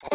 ካብ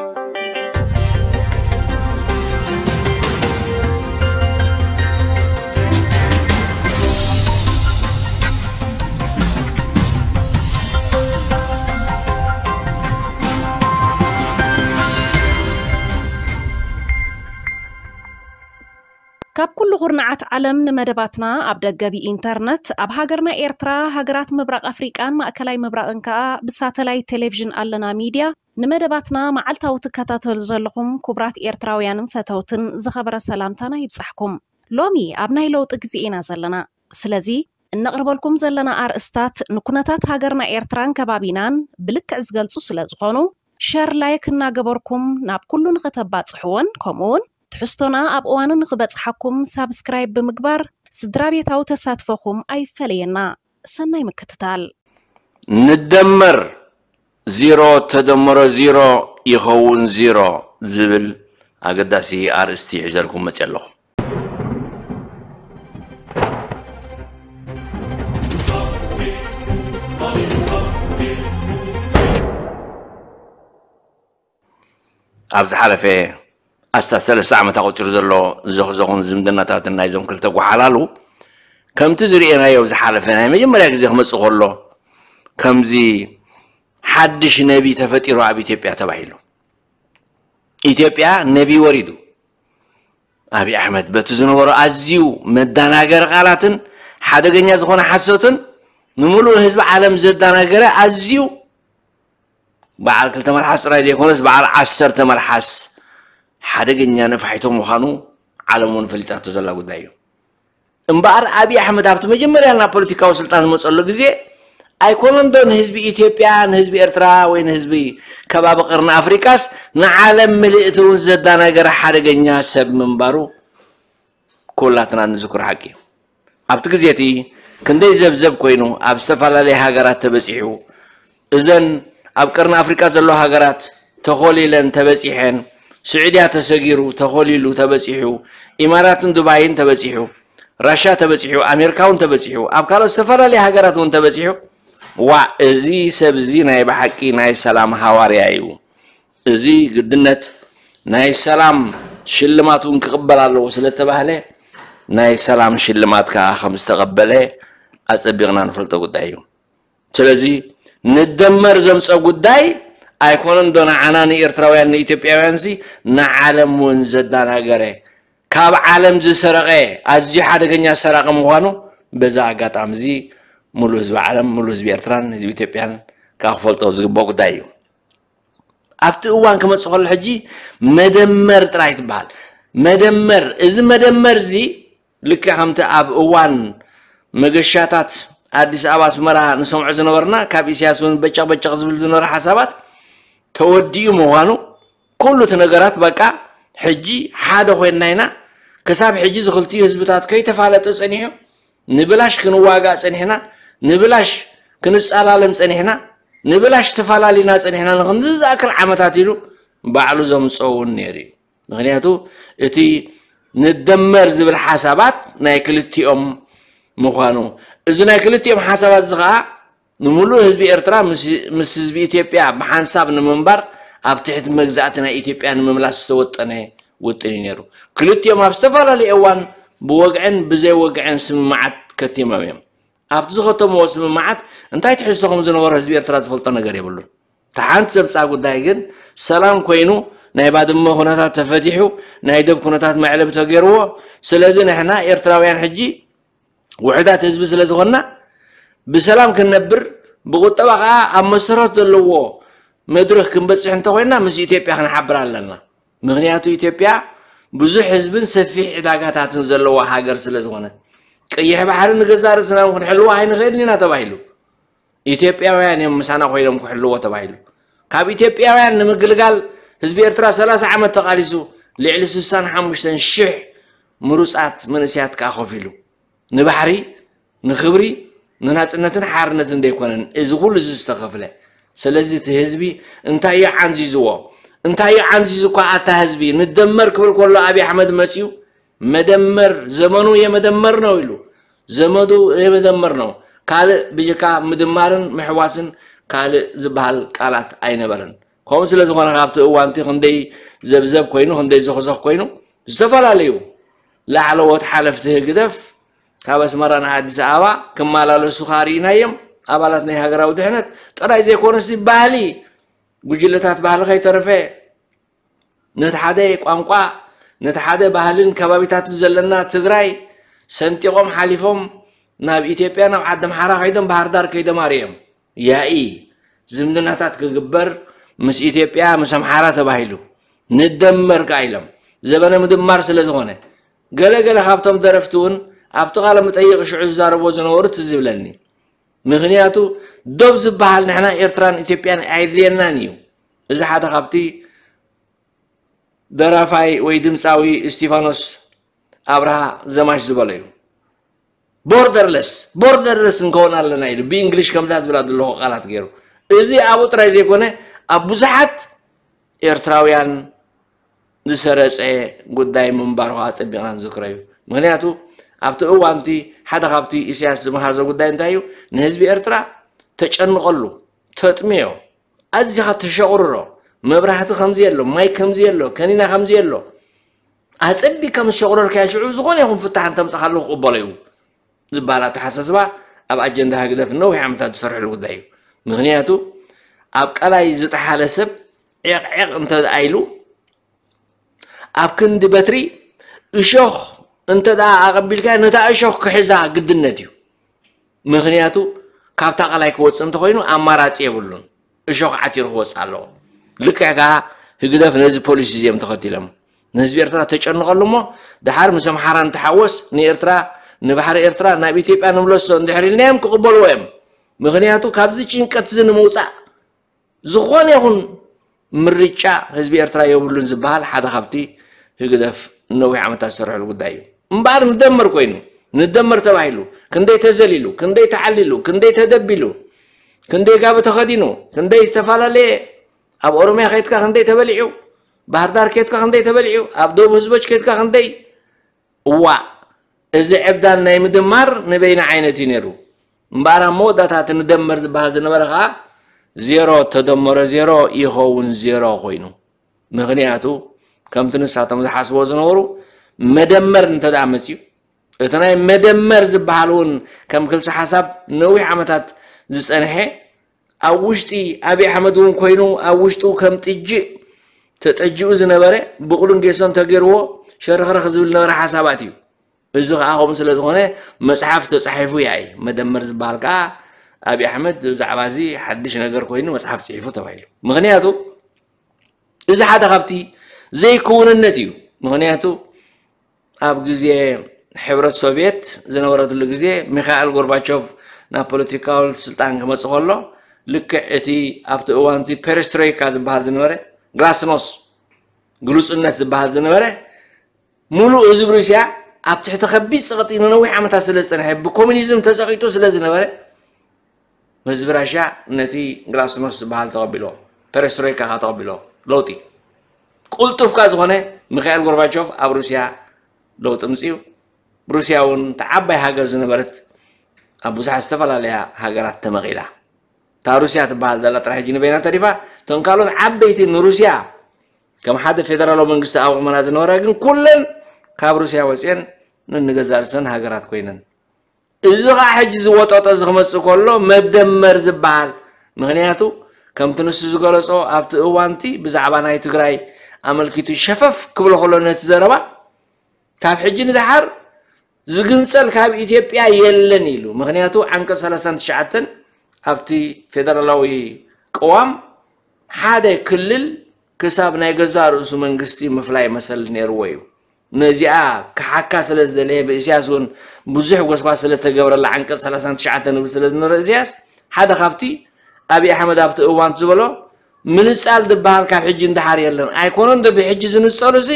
ኩሉ ኩርናዓት ዓለም ንመደባትና ኣብ ደገ ብኢንተርነት፣ ኣብ ሃገርና ኤርትራ፣ ሃገራት ምብራቕ ኣፍሪቃን ማእከላይ ምብራቕን ከኣ ብሳተላይት ቴሌቪዥን ኣለና ሚድያ ንመደባትና መዓልታዊ ትከታተሉ ዘለኹም ክቡራት ኤርትራውያንን ፈተውትን ዝኸበረ ሰላምታና ይብጻሕኩም። ሎሚ ኣብ ናይ ለውጢ ግዜ ኢና ዘለና። ስለዚ እነቕርበልኩም ዘለና ኣርእስታት ንኩነታት ሃገርና ኤርትራን ከባቢናን ብልክዕ ዝገልጹ ስለ ዝኾኑ፣ ሸር ላይክ እናገበርኩም ናብ ኩሉ ንኽተባጽሕዎን ከምኡውን ትሕዝቶና ኣብ እዋኑ ንኽበጽሓኩም ሳብስክራይብ ብምግባር ስድራ ቤታዊ ተሳትፎኹም ኣይፈለየና። ሰናይ ምክትታል። ንደመር ዜሮ ተደመሮ ዜሮ ይኸውን ዜሮ ዝብል ኣገዳሲ ኣርእስቲ ሒዘልኩም መፅእ ኣለኹ። ኣብ ዝሓለፈ ኣስታት ሰለስተ ዓመት ኣቑፂሩ ዘሎ ዘኽዘኹን ዝምድናታትን ናይዞም ክልተ ጓሓላሉ ከምቲ ዝርእየናዮ ኣብ ዝሓለፈ ናይ መጀመርያ ግዜ ክመፅእ ከሎ ከምዚ ሓድሽ ነቢ ተፈጢሩ ኣብ ኢትዮጵያ ተባሂሉ። ኢትዮጵያ ነቢ ወሪዱ። ኣብይ ኣሕመድ በቲ ዝነበሮ ኣዝዩ መዳናገሪ ቃላትን ሓደገኛ ዝኾነ ሓሶትን ንምሉእ ህዝቢ ዓለም ዘዳናገረ ኣዝዩ በዓል ክልተ መልሓስ ጥራይ ዘይኮነስ በዓል ዓሰርተ መልሓስ ሓደገኛ ነፋሒቶ ምዃኑ ዓለም እውን ፈሊጣቶ ዘላ ጉዳይ እዩ። እምበኣር ኣብይ ኣሕመድ ኣብቲ መጀመርያ ናብ ፖለቲካዊ ስልጣን ዝመፀሉ ግዜ ኣይኮነን ዶ ንህዝቢ ኢትዮጵያ፣ ንህዝቢ ኤርትራ ወይ ንህዝቢ ከባቢ ቀርኒ ኣፍሪቃስ ንዓለም ምልእቲ እውን ዘዳናገረ ሓደገኛ ሰብ ምንባሩ ኩላትና ንዝክሮ ሓቂ እዩ። ኣብቲ ግዜ እቲ ክንደይ ዘብዘብ ኮይኑ ኣብ ዝተፈላለየ ሃገራት ተበጺሑ፣ እዘን ኣብ ቀርኒ ኣፍሪቃ ዘለዋ ሃገራት ተኾሊለን ተበጺሐን፣ ስዑድያ ተሰጊሩ ተኾሊሉ ተበጺሑ፣ ኢማራትን ዱባይን ተበጺሑ፣ ራሻ ተበጺሑ፣ ኣሜሪካ እውን ተበጺሑ፣ ኣብ ካልኦት ዝተፈላለየ ሃገራት እውን ተበጺሑ። ዋእ እዚ ሰብ እዚ ናይ ብሓቂ ናይ ሰላም ሃዋርያ እዩ። እዚ ግድነት ናይ ሰላም ሽልማት እውን ክቕበል ኣለዎ ስለተባህለ ናይ ሰላም ሽልማት ከዓ ከም ዝተቐበለ ኣጸቢቕና ንፈልጦ ጉዳይ እዩ። ስለዚ ንደመር ዘምፀ ጉዳይ ኣይኮነን ዶ ንዓና ንኤርትራውያን ንኢትዮጵያውያን ሲ ንዓለም እውን ዘዳናገረ ካብ ዓለም ዝሰረቐ ኣዝዩ ሓደገኛ ሰራቂ ምዃኑ በዛ ኣጋጣሚ እዚ ሙሉ ህዝቢ ዓለም ሙሉ ህዝቢ ኤርትራን ህዝቢ ኢትዮጵያን ከዓ ክፈልጦ ዝግባእ ጉዳይ እዩ። ኣብቲ እዋን ክመፅእ ከሎ ሕጂ መደመር ጥራይ ትበሃል። መደመር እዚ መደመር እዚ ልክዕ ከምቲ ኣብ እዋን መገሻታት ኣዲስ ኣበባ ኣስመራ ንሰምዖ ዝነበርና ካብ ኢሳያስ እውን በጨቕ በጨቕ ዝብል ዝነበረ ሓሳባት ተወዲኡ ምዃኑ ኩሉ እቲ ነገራት በቃ ሕጂ ሓደ ኮይንና ኢና። ክሳብ ሕጂ እዚ ክልቲኡ ህዝብታት ከይተፋለጠ ፀኒሑ ንብላሽ ክንዋጋእ ፀኒሕና፣ ንብላሽ ክንፃላለም ፀኒሕና፣ ንብላሽ ተፋላሊና ፀኒሕና ንክንዚ ዝኣክል ዓመታት ኢሉ ባዕሉ ዘምፀውን ነይሩ እዩ። ምክንያቱ እቲ ንደመር ዝብል ሓሳባት ናይ ክልቲኦም ምዃኑ እዚ ናይ ክልቲኦም ሓሳባት እዚ ከዓ ንምሉእ ህዝቢ ኤርትራ ምስ ህዝቢ ኢትዮጵያ ብሓንሳብ ንምንባር ኣብ ትሕቲ መግዛእቲ ናይ ኢትዮጵያ ንምምላስ ዝተወጠነ ውጥን እዩ ነይሩ። ክልቲኦም ኣብ ዝተፈላለየ እዋን ብወግዕን ብዘይወግዕን ስምምዓት ከቲሞም እዮም። ኣብቲ ዝኸተምዎ ስምምዓት እንታይ ትሕዝቶ ከም ዝነበሮ ህዝቢ ኤርትራ ዝፈልጦ ነገር የብሉን። እታ ሓንቲ ዘምፅኣ ጉዳይ ግን ሰላም ኮይኑ ናይ ባድመ ኩነታት ተፈቲሑ ናይ ደብ ኩነታት መዕለቢ ተገይርዎ። ስለዚ ንሕና ኤርትራውያን ሕጂ ውሑዳት ህዝቢ ስለ ዝኾንና ብሰላም ክንነብር ብቁጠባ ከዓ ኣብ መሰረት ዘለዎ መድረኽ ክንበፅሕ እንተኮይንና ምስ ኢትዮጵያ ክንሓብር ኣለና። ምክንያቱ ኢትዮጵያ ብዙሕ ህዝብን ሰፊሕ ዕዳጋታትን ዘለዋ ሃገር ስለ ዝኾነት ቀይሕ ባሕሪ ንገዛእ ርእስና እውን ክንሕልዋ ኣይንኽእልን ኢና ተባሂሉ። ኢትዮጵያውያን እዮም ምሳና ኮይኖም ክሕልዎ ተባሂሉ። ካብ ኢትዮጵያውያን ንምግልጋል ህዝቢ ኤርትራ ሰላሳ ዓመት ተቓሊሱ ልዕሊ ስሳን ሓሙሽተን ሽሕ ምሩፃት መንእሰያት ከዓ ከፊሉ ንባሕሪ ንኽብሪ ንናፅነትን ሓርነትን ዘይኮነን እዚ ኩሉ እዚ ዝተኸፍለ። ስለዚ እቲ ህዝቢ እንታይ እዩ ዓንዚዝዎ? እንታይ እዩ ዓንዚዙ እኳ ኣታ ህዝቢ ንደመር ክብል ከሎ ኣብይ ኣሕመድ መፅዩ መደመር ዘመኑ የመደመር ነው ኢሉ ዘመዱ የመደመር ነው። ካልእ ብጀካ ምድማርን ምሕዋስን ካልእ ዝበሃል ቃላት ኣይነበረን። ከምኡ ስለ ዝኾነ ካብቲ እዋንቲ ክንደይ ዘብዘብ ኮይኑ ክንደይ ዘኽዘኽ ኮይኑ ዝተፈላለዩ ላዕለዎት ሓለፍቲ ህግደፍ ካብ ኣስመራ ንኣዲስ ኣበባ ክመላለሱ ከኣ ርኢናዮም። ኣባላት ናይ ሃገራዊ ድሕነት ጥራይ ዘይኮነሲ ባህሊ ጉጅለታት ባህሊ ከይተረፈ ነቲ ሓደ ቋንቋ ነቲ ሓደ ባህልን ከባቢታትን ዘለና ትግራይ ሰንጢቖም ሓሊፎም ናብ ኢትዮጵያ ናብ ዓዲ ኣምሓራ ከይዶም ባህር ዳር ከይዶም ኣርእዮም። ያኢ ዝምድናታት ክግበር ምስ ኢትዮጵያ ምስ ኣምሓራ ተባሂሉ ንደመር ከኣ ኢሎም ዘበነ ምድማር ስለ ዝኾነ ገለ ገለ ካብቶም ደረፍቲ እውን ኣብቲ ቃለ መጠይቕ ሽዑ ዝዛረብዎ ዝነበሩ ትዝ ይብለኒ። ምኽንያቱ ዶብ ዝበሃል ንሕና ኤርትራን ኢትዮጵያን ኣየድልየናን እዩ። እዚ ሓደ ካብቲ ደራፋይ ወይ ድምፃዊ እስቲፋኖስ ኣብርሃ ዘማች ዝበሎ እዩ። ቦርደርለስ ቦርደርለስ እንከውን ኣለና ኢሉ ብእንግሊሽ ከምዛ ዝብላ ዘለኹ ቃላት ገይሩ። እዚ ኣብኡ ጥራይ ዘይኮነ ኣብ ብዙሓት ኤርትራውያን ዝሰረጸ ጉዳይ ምንባሩ ከዓ ኣጸቢቕና ንዝክሮ እዩ። ምክንያቱ ኣብቲ እዋንቲ ሓደ ካብቲ ኢሳያስ ዝመሃዞ ጉዳይ እንታይ እዩ? ንህዝቢ ኤርትራ ተጨንቐሉ፣ ተጥምዮ፣ ኣዚኻ ተሸቑርሮ፣ መብራህቲ ከምዚ የሎ፣ ማይ ከምዚ የሎ፣ ከኒና ከምዚ የሎ፣ ኣጸቢቕካ ምስ ሸቑረርካዮ ሽዑ ዝኾነ ይኹን ፍታሕ እንተምጻኻሉ ክቕበሎ እዩ። ዝበሃል ኣተሓሳስባ ኣብ ኣጀንዳ ህግደፍ ነዊሕ ዓመታት ዝሰርሕሉ ጉዳይ እዩ። ምኽንያቱ ኣብ ቀላይ ዝጠሓለ ሰብ ዒቕዒቕ እንተ ደኣ ኢሉ ኣብ ክንዲ በትሪ እሾኽ እንተ ደኣ ኣቐቢልካ ነታ እሾኽ ክሕዛ ግድነት እዩ። ምኽንያቱ ካብታ ቀላይ ክወፅእ እንተኾይኑ ኣማራፂ የብሉን። እሾኽ ዓቲሩ ክወፅእ ኣለዎ። ልክዕ ከኣ ህግደፍ ነዚ ፖሊሲ እዚኦም ተኸቲሎም ንህዝቢ ኤርትራ ተጨንቐሉ እሞ ደሓር ምስ ኣምሓራ ንተሓወስ ንኤርትራ ንባሕሪ ኤርትራ ናብ ኢትዮጵያ ንምለሶ እንድሕር ኢልናዮም ክቕበልዎ እዮም። ምኽንያቱ ካብዚ ጭንቀት እዚ ንምውፃእ ዝኾነ ይኹን ምርጫ ህዝቢ ኤርትራ የብሉን ዝበሃል ሓደ ካብቲ ህግደፍ ነዊሕ ዓመታት ዝሰርሐሉ ጉዳይ እዩ። እምበኣር ንደመር ኮይኑ ንደመር ተባሂሉ ክንደይ ተዘሊሉ ክንደይ ተዓሊሉ ክንደይ ተደቢሉ ክንደይ ጋቢ ተኸዲኑ ክንደይ ዝተፈላለየ ኣብ ኦሮምያ ከይትካ ክንደይ ተበሊዑ ባህር ዳር ከይትካ ክንደይ ተበሊዑ ኣብ ደቡብ ህዝቦች ከይትካ ክንደይ እዋእ እዚ ዕብዳን ናይ ምድማር ንበይኒ ዓይነት እዩ ነይሩ እምበኣር ኣብ መወዳእታ እቲ ንደመር ዝበሃል ዝነበረ ከዓ ዜሮ ተደመሮ ዜሮ ይኸውን ዜሮ ኮይኑ ምኽንያቱ ከምቲ ንሳቶም ዝሓስቦ ዝነበሩ መደመር እንተ ደኣ መፅዩ እቲ ናይ መደመር ዝበሃል እውን ከም ክልሲ ሓሳብ ነዊሕ ዓመታት ዝፀንሐ ኣብ ውሽጢ ኣብይ ኣሕመድ እውን ኮይኑ ኣብ ውሽጡ ከም ጥጅእ ተጠጅኡ ዝነበረ ብቑሉን ጌሶን ተገይርዎ ሸረኽረኽ ዝብል ነበረ ሓሳባት እዩ። እዚ ከዓ ከምኡ ስለ ዝኾነ መፅሓፍ ተፃሒፉ ያኢ መደመር ዝበሃል ከዓ ኣብይ ኣሕመድ ብዛዕባ እዚ ሓድሽ ነገር ኮይኑ መፅሓፍ ፅሒፉ ተባሂሉ። ምኽንያቱ እዚ ሓደ ካብቲ ዘይክውንነት እዩ። ምኽንያቱ ኣብ ግዜ ሕብረት ሶቭየት ዝነበረትሉ ግዜ ሚካኤል ጎርባቾቭ ናብ ፖለቲካዊ ስልጣን ክመፅእ ከሎ ልክዕ እቲ ኣብቲ እዋንቲ ፔሬስትሮይካ ዝበሃል ዝነበረ ግላስኖስ ግሉፅነት ዝበሃል ዝነበረ ሙሉእ ህዝቢ ሩስያ ኣብ ትሕቲ ከቢድ ፀቕጢ ንነዊሕ ዓመታት ስለ ዝፀንሐ ብኮሚኒዝም ተፀቒጡ ስለ ዝነበረ ህዝቢ ራሽያ ነቲ ግላስኖስ ዝበሃል ተቐቢልዎ ፔሬስትሮይካ ከዓ ተቐቢልዎ ለውጢ ቁልጡፍካ ዝኾነ ሚካኤል ጎርባቾቭ ኣብ ሩስያ ለውጢ ምፅኡ ሩስያ እውን ተዓባይ ሃገር ዝነበረት ኣብ ብዙሓት ዝተፈላለያ ሃገራት ተመቒላ እታ ሩስያ ትበሃል ዘላ ጥራሕ ሕጂ ንበይና ተሪፋ እቶም ካልኦት ዓበይቲ ንሩስያ ከም ሓደ ፌደራላዊ መንግስቲ ኣቑመና ዝነበራ ግን ኩለን ካብ ሩስያ ወፅየን ንንገዛእ ርእሰን ሃገራት ኮይነን እዚ ከዓ ሕጂ ዝወጠጦ እዚ ክመፅእ ከሎ መደመር ዝበሃል ምክንያቱ ከምቲ ንሱ ዝገለፆ ኣብቲ እዋንቲ ብዛዕባ ናይ ትግራይ ኣመልኪቱ ሸፈፍ ክብሎ ከሎ ነቲ ዘረባ ካብ ሕጂ ንደሓር ዝግንፀል ካብ ኢትዮጵያ የለን ኢሉ ምክንያቱ ዓንቀፅ ሰላሳን ትሽዓተን ኣብቲ ፌደራላዊ ቅዋም ሓደ ክልል ክሳብ ናይ ገዛእ ርእሱ መንግስቲ ምፍላይ መሰል ነይርዎ እዩ። ነዚኣ ክሓካ ስለ ዝደለየ ብእስያስ እውን ብዙሕ ጎስጓስ ስለ ተገብረላ ዓንቀፅ ሰላሳን ትሽዓተን ንብል ስለ ዝነበረ እስያስ ሓደ ካብቲ ኣብይ ኣሕመድ ኣብቲ እዋን ዝበሎ ምንፃል ዝበሃል ካብ ሕጂ እንደሓር የለን ኣይኮነን ዶ ብሕጂ ዝንፀሉ ሲ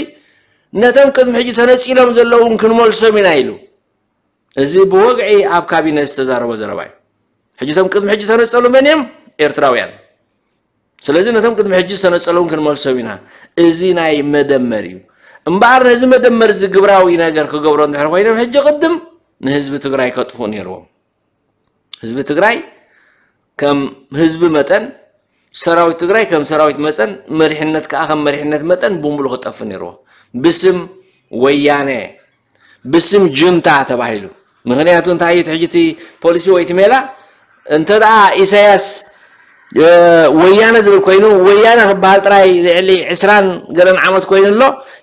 ነቶም ቅድሚ ሕጂ ተነፂሎም ዘለውን ክንመልሶም ኢና ኢሉ እዚ ብወግዒ ኣብ ካቢነ ዝተዛረቦ ዘረባ እዩ ሕጂ ቶም ቅድሚ ሕጂ ተነፀሉ መን እዮም ኤርትራውያን ስለዚ ነቶም ቅድሚ ሕጂ ዝተነፀለውን ክንመልሶም ኢና። እዚ ናይ መደመር እዩ። እምበኣር ነዚ መደመር እዚ ግብራዊ ነገር ክገብሮ እንድሕር ኮይኖም ሕጂ ቅድም ንህዝቢ ትግራይ ከጥፍኡ ነይርዎም። ህዝቢ ትግራይ ከም ህዝቢ መጠን ሰራዊት ትግራይ ከም ሰራዊት መጠን፣ መሪሕነት ከዓ ከም መሪሕነት መጠን ብምሉእ ክጠፍ ነይርዎ። ብስም ወያነ፣ ብስም ጁንታ ተባሂሉ። ምኽንያቱ እንታይ እዩ? እቲ ሕጂ እቲ ፖሊሲ ወይ እቲ ሜላ፣ እንተ ደኣ ኢሳያስ ወያነ ዝብል ኮይኑ፣ ወያነ ክበሃል ጥራይ ልዕሊ ዕስራን ገለን ዓመት ኮይኑ ኣሎ።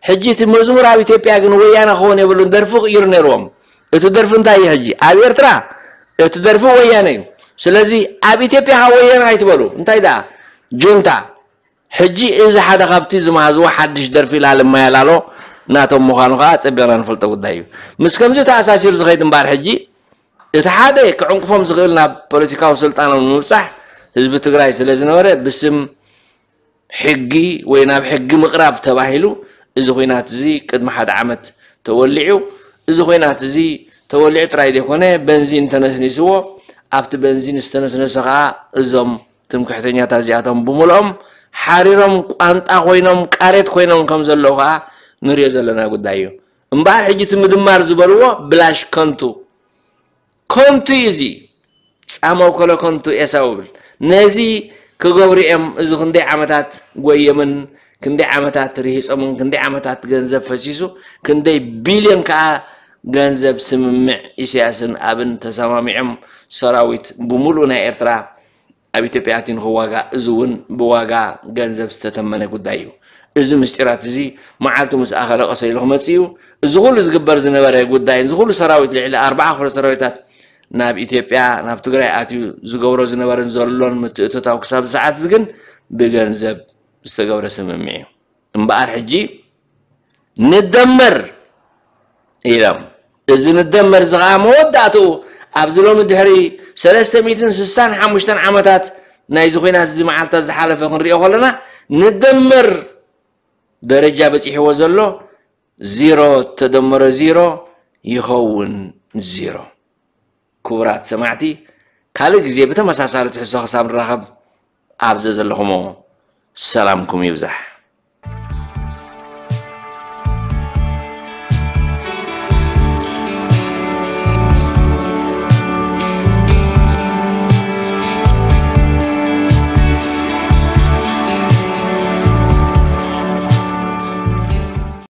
ሕጂ እቲ መዝሙር ኣብ ኢትዮጵያ ግን ወያነ ክኸውን የብሉን፣ ደርፊ ክቕይሩ ነይርዎም። እቲ ደርፊ እንታይ እዩ ሕጂ ኣብ ኤርትራ? እቲ ደርፊ ወያነ እዩ። ስለዚ ኣብ ኢትዮጵያ ካብ ወያነ ኣይትበሉ። እንታይ ደኣ ጁንታ። ሕጂ እዚ ሓደ ካብቲ ዝመሃዝዎ ሓድሽ ደርፊ ላለ ማያላሎ ናቶም ምዃኑ ከዓ ኣጸቢቕና ንፈልጦ ጉዳይ እዩ። ምስ ከምዚ ተኣሳሲሩ ዝኸይድ እምበኣር ሕጂ እቲ ሓደ ክዕንቅፎም ዝኽእል ናብ ፖለቲካዊ ስልጣኖም ንምብጻሕ ህዝቢ ትግራይ ስለ ዝነበረ ብስም ሕጊ ወይ ናብ ሕጊ ምቕራብ ተባሂሉ እዚ ኹናት እዚ ቅድሚ ሓደ ዓመት ተወሊዑ። እዚ ኹናት እዚ ተወሊዑ ጥራይ ዘይኮነ በንዚን ተነስኒስዎ። ኣብቲ በንዚን ዝተነስነሰ ከዓ እዞም ትምክሕተኛታት እዚኣቶም ብምልኦም ሓሪሮም ቋንጣ ኮይኖም ቃሬት ኮይኖም ከም ዘለዉ ከዓ ንሪኦ ዘለና ጉዳይ እዩ። እምበኣር ሕጂ እቲ ምድማር ዝበልዎ ብላሽ ከንቱ ከንቱ እዩ። እዚ ጻመው ከሎ ከንቱ ኤሳው እብል። ነዚ ክገብሩ እዮም። እዚ ክንደይ ዓመታት ጎየምን ክንደይ ዓመታት ርሂጾምን ክንደይ ዓመታት ገንዘብ ፈሲሱ ክንደይ ቢልዮን ከዓ ገንዘብ ስምምዕ ኢሳያስን ኣብን ተሰማሚዖም ሰራዊት ብምሉእ ናይ ኤርትራ ኣብ ኢትዮጵያ ኣትዩ ንኽዋጋእ፣ እዚ እውን ብዋጋ ገንዘብ ዝተተመነ ጉዳይ እዩ። እዚ ምስጢራት እዚ መዓልቱ ምስ ኣኸለ ቀሰ ኢሉ ክመጽእ እዩ። እዚ ኩሉ ዝግበር ዝነበረ ጉዳይ፣ እዚ ኩሉ ሰራዊት፣ ልዕሊ ኣርባዓ ክፍለ ሰራዊታት ናብ ኢትዮጵያ፣ ናብ ትግራይ ኣትዩ ዝገብሮ ዝነበረን ዘሎን ምትእትታው ክሳብ ሰዓት እዚ ግን ብገንዘብ ዝተገብረ ስምምዕ እዩ። እምበኣር ሕጂ ንደመር ኢሎም። እዚ ንደመር እዚ ከዓ መወዳእትኡ ኣብዚ ሎሚ ድሕሪ ሰለስተ ሚእትን ስሳን ሓሙሽተን ዓመታት ናይዚ ኹናት እዚ መዓልታት ዝሓለፈ ክንሪኦ ከለና ንደመር ደረጃ በፂሕዎ ዘሎ ዜሮ ተደመረ ዜሮ ይኸውን ዜሮ። ክቡራት ሰማዕቲ፣ ካልእ ግዜ ብተመሳሳሊ ትሕዝቶ ክሳብ ንራኸብ ኣብ ዘዘለኹሞ ሰላምኩም ይብዛሕ።